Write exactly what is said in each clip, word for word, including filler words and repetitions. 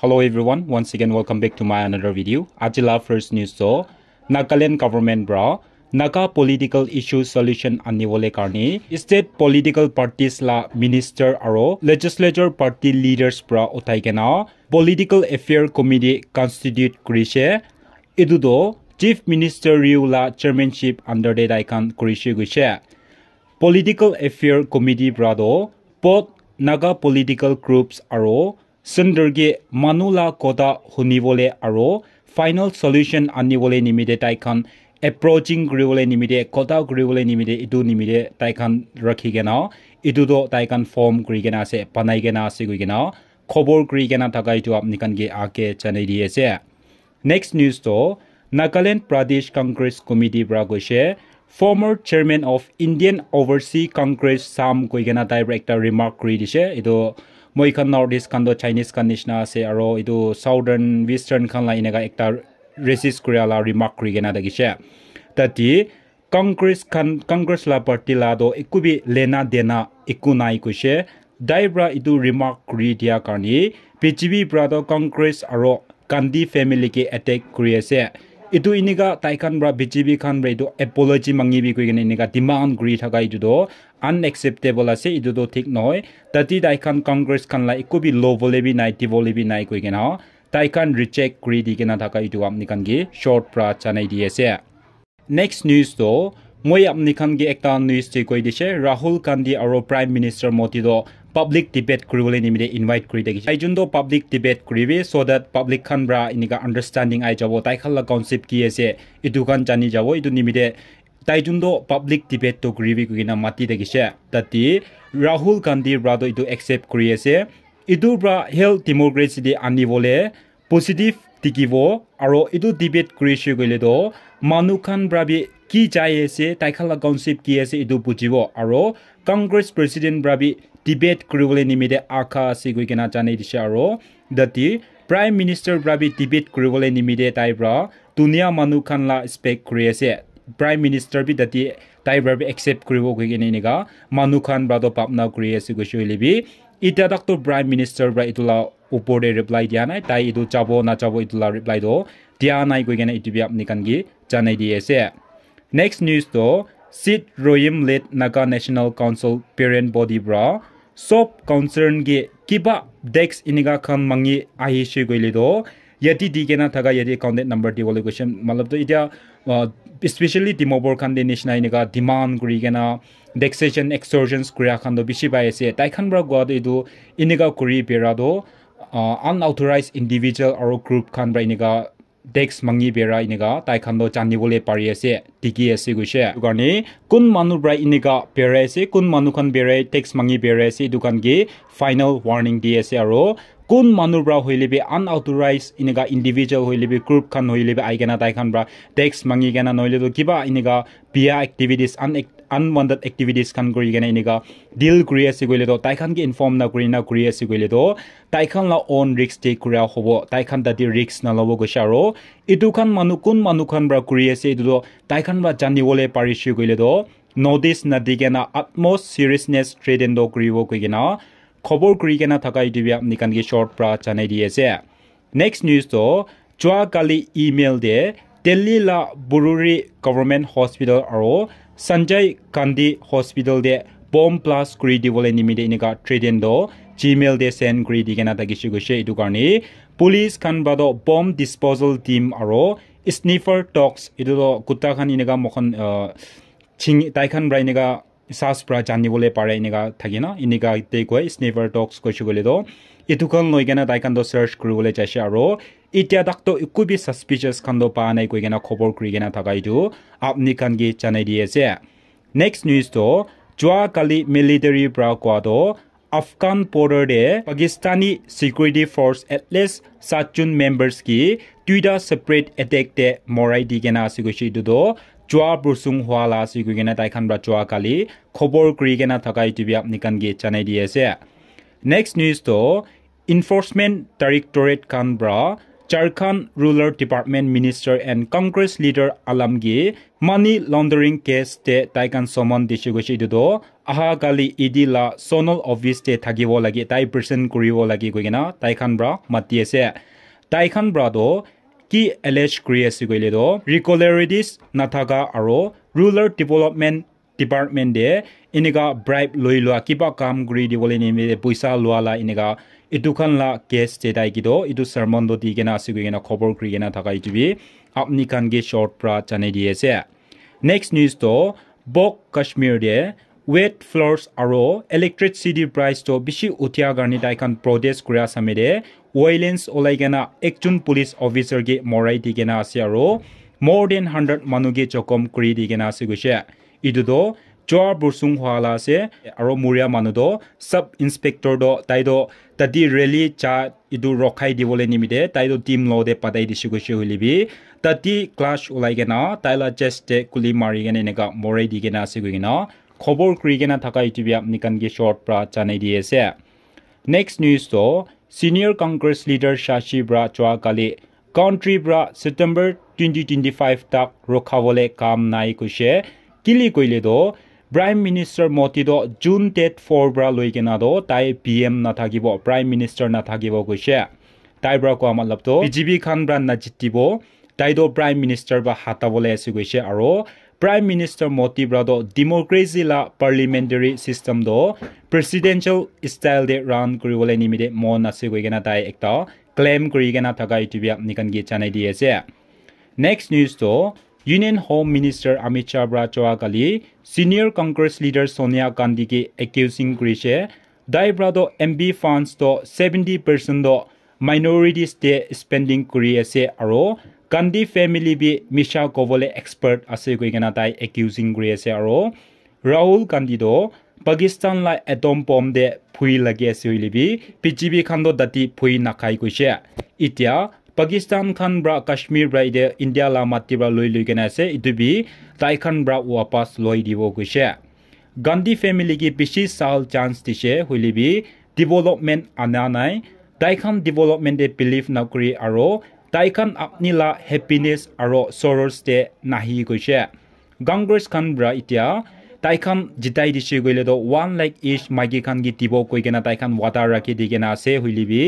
Hello everyone, once again welcome back to my another video. Aji la first news to Nagaland government pra Naga political issue solution anibole karni state political parties la minister aro legislature party leaders pra uthai kena political affair committee constitute kurishe. Etu to Chief Minister Ryu la chairmanship under te tai khan kurishe kuishe. Political affair committee pra to both Naga political groups aro Center ke manu la kotha hunibole aro final solution anibole nimite tai khan approaching kuribole nimite kotha kuribole nimite etu nimite tai khan rakhi kena etu to tai khan form kuri kena ase banai kena ase koi kena khobor kuri kena thaka etu apni khan ke ake janai di ase. Next news to Nagaland Pradesh Congress Committee pra koishe former chairman of Indian Overseas Congress Sam koi kena tai pra ekta remark kuri dishe. Etu moi khan North East khan to Chinese khan nishna ase aro etu Southern Western khan la eneka ekta racist kuri la remark kuri kena thakishe. Tate Congress khan Congress la party la to eku bi lena dena eku nai koishe. Tai pra etu remark kuri dia karni B J P pra to Congress aro Gandhi family ke attack kuri ase. Etu enika tai khan pra B J P khan pra etu apology mangi bi koi kena enika demand kuri thaka etu to unacceptable ase, etu to thik nohoi. Tate tai khan Congress khan la eku bi lobole bi nai, dibole bi nai koi kena tai khan reject kuri di kena thaka etu apni khan ke short pra janai di ase. Next news to moi apni khan ke ekta news te koi dishe, Rahul Gandhi aro Prime Minister Modi to public debate kuribole nimite invite kuri thakishe. Tai jun to public debate kuribi so that public khan pra enika understanding ai jabo, tai khan la concept ki ase etu khan jani jabo, etu nimite tai jun to public debate to kuribi koi kena mati thakishe. Tate Rahul Gandhi pra to etu accept kuri ase. Etu pra health democracy te anibole positive dikhibo aro etu debate kurishe koile to manu khan pra bi ki jai ase, tai khan la concept ki ase etu bujibo aro Congress president pra bi debate kuribole nimite akha ase koi kena janai dishe aro tate Prime Minister pra bi debate kuribole nimite tai pra dunia manu khan la expect kuri ase. Prime Minister bi tate tai pra bi accept kuribo koi kena enika manu khan pra to bhabna kuri ase koishe hoile bi eta tak to Prime Minister pra etu la upor te reply dia nai, tai etu jabo na jabo etu la reply to dia nai koi kena etu bi apni khan ke janai di ase. Next news to Sit Royim led Naga National Council parent body pra sob concern ke kiba tax enika khan mangi ahishe koile to yate di kena thaka yate contact number dibole koishe. Matlab to etia uh, especially Dimapur khan te nishna enika demand kuri kena taxation extortions kuria khan to bishi pai ase. Tai khan pra koa to etu enika kuri bera to uh, unauthorized individual aro group khan pra enika tax mangi bera enika tai khan to janibole pari ase, dikhi ase koishe. Etu karne kun manu pra enika berai ase, kun manu khan berai tax mangi berai ase, etu khan ke final warning di ase aro kun manu pra hoile bi unauthorized enika individual hoile bi group khan hoile bi ai kena tai khan pra tax mangi kena nohole to kiba enika bia activities un unwanted activities khan kuri kena enika deal kuri ase koile to tai khan ke inform na kuri na kuri ase koile to tai khan la own risk take kura hobo, tai khan tate risk na lobo koishe aro etu khan manu kun manu khan pra kuri ase etu to tai khan pra janibole parishe koile to notice na di kena utmost seriousness threaten to kuribo koi kena khobor kuri kena thaka etu bi apni khan ke short pra janai di ase. Next news to jua kali email te Delhi la Bururi Government Hospital aro Sanjay Gandhi Hospital te bomb blast kuri dibole nimite enika threaten to Gmail te send kuri di kena thakishe koishe. Etu karne police khan pra to bomb disposal team aro sniffer dogs etu to kutta khan enika mokhan uh, ching tai khan pra enika sas pra janibole pare enika thake na, enika te koi sniffer dogs koishe koile to etu khan loi kena tai khan to search kuribole jaishe aro etia tak to eku bi suspicious khan to pa nai koi kena khobor kuri kena thaka etu apni khan ke janai di ase. Next news to jua kali military pra koa to Afghan border te Pakistani security force at least satjon members ki duita separate attack te morai di kena ase koishe. Etu to jua bursung hua la ase koi kena tai khan pra jua kali khobor kuri kena thaka etu bi apni khan ke janai di ase. Next news to Enforcement Directorate khan pra Jharkhand Rural Department Minister and Congress leader Alamgir Money laundering case te tai khan summon dise koise, etu toh aha kali E D la zonal office te thakibo lage, tai present kuribo lage koi kena tai khan pra mati ase. Tai khan pra toh ki allege kuri ase koile toh, regularities nathaka aro rural development department te enika bribe loi lua, kiba kam kuri dibole nimite poisa lua la enika, etu khan la case te tai ki toh etu sermon toh di kena ase koi kena khobor kuri kena thaka etu bi apni khan ke short pra janai di ase. Next news toh, Bok Kashmir te wet floors aro electricity price toh bishi uthia karne tai khan protest kuria samey te violence olai kena ekjon police officer ke morai di kena ase aro more than hundred manu ke jokhom kuri di kena ase koise. Etu toh Chua Bursung hua la ase, aro muria manu toh sub inspector toh tai toh tate rally cha etu rokhai dibole nimite tai toh team lo te patai dise koise hoile bi tate clash ulai kena tai la chest te kuli mari kena enika morai di kena ase koi kena khobor kuri kena thaka etu bi apni khan ke short pra janai di ase. Next news toh, senior Congress leader Shashi pra chua kali country pra September twenty twenty-five tak rokhabole kam nai koise. Kili koile toh, Prime Minister Modi toh June date four pra loi kena toh tai P M nathakibo, Prime Minister nathakibo koise. Tai pra koa matlab toh B J P khan pra najitibo, tai toh Prime Minister pra hatabole ase koise aro Prime Minister Modi pra toh democracy la parliamentary system toh presidential style te run kuribole nimite mon ase koi kena tai ekta claim kuri kena thaka etu bi apni khan ke janai di ase. Next news toh Union Home Minister Amit Shah pra chua kali senior Congress leader Sonia Gandhi ke accusing kurise. Tai pra toh M P funds toh seventy percent toh minorities te spending kuri ase aro Gandhi family bi misha kobole expert ase koi kena tai accusing kuri ase aro Rahul Gandhi toh Pakistan la atom bomb te phui lagi ase hoile bi B J P khan toh tate phui nakhai koise. Etia Pakistan khan pra Kashmir pra ite India la mati pra loi loi kena ase, etu bi tai khan pra wapas loi dibo koise. Gandhi family ke bishi sal chance dise hoile bi development ana nai. Tai khan development te believe nakuri aro tai khan apni la happiness aro sorrows te nahi koise. Congress khan pra itia tai khan jitai dise koile toh one lakh each maiki khan ke dibo koi kena tai khan wada rakhi di kena ase hoile bi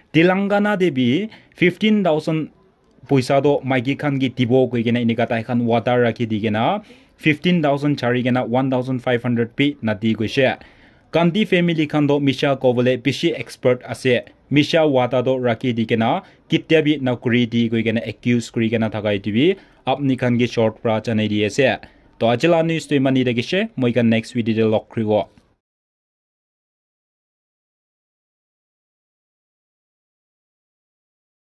Telangana te bi fifteen thousand poisa toh maiki khan ke dibo koi kena enika tai khan wada rakhi di kena fifteen thousand chari kena one thousand five hundred bi nadi koise. Gandhi family khan toh misha kobole bishi expert ase. Misha wada toh rakhi di kena ketia bi nakuri di koi kena accuse kuri kena thaka etu bi apni khan ke short pra janai di ase. To aji la news toh iman hi thakise, moi khan next video te log kuribo.